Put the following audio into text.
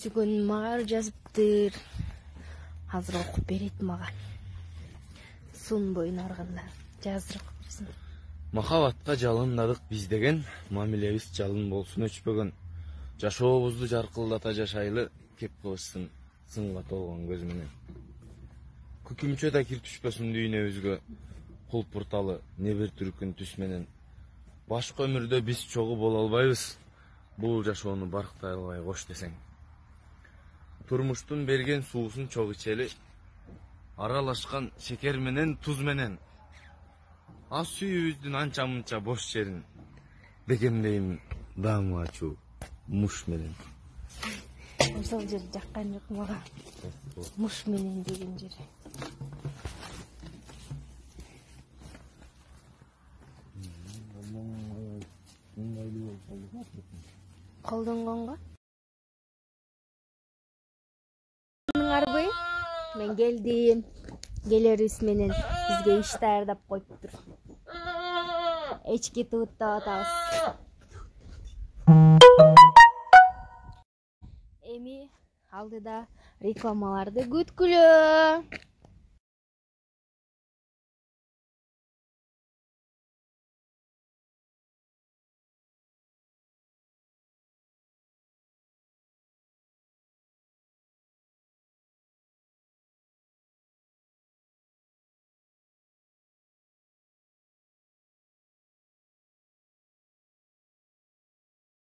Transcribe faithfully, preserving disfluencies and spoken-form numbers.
түзгөн мага жазыптыр. Азыр окуп берет мага. Сунбойн арганда жаздырып берсин. Махабатка жалындадык биз деген, мамилебиз жалын болсун өчпөгөн. Жашообузду жаркылдата жашайлы, кеп кылышсын сынга толгон көз менен. Күкүмчө да кир түшпөсүн дүйнөбүзгө, кулпурталы не бир түркүн түс менен. Башка өмүрдө биз чогуу боло албайбыз, бул жашоону барктай албай кош десең. Турмуштун берген суусун чок ичели, аралашкан шекер менен туз менен. Ас сүйүүбүздүн анча-мынча бош жерин бекемдейм даамы ачуу муш менен. Ошол жер жаккан жок мага. Муш менен деген жер. Колдонгонго? Арбы? Мен келдим. Келерибиз менен бизге иш даярдап коюптур. Эчки тууттап атабыз. Эми алдыда рекламаларды күткүлө.